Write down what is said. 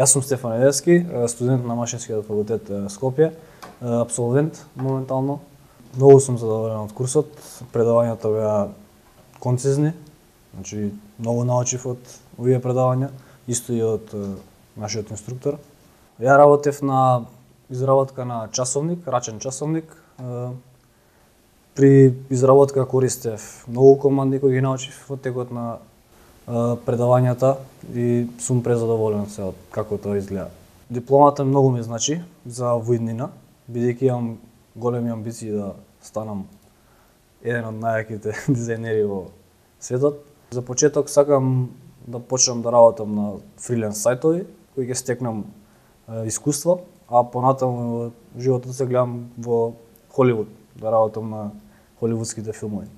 Јас сум Стефан Недевски, студент на Машинскиот факултет Скопје, абсолвент моментално. Многу сум задоволен од курсот, предавањата беа концизни, значи многу научив од овие предавања, исто и од нашиот инструктор. Ја работев на изработка на часовник, рачен часовник. При изработка користев многу команди кои ги научив во текот на предавањата и сум презадоволен се од како тоа изгледа. Дипломата многу ми значи за во иднина, бидејќи имам големи амбиции да станам еден од најаките дизајнери во светот. За почеток сакам да почнам да работам на фриленс сајтови кои ќе стекнам искуство, а понатаму во животот се гледам во Холивуд, да работам на холивудските филмови.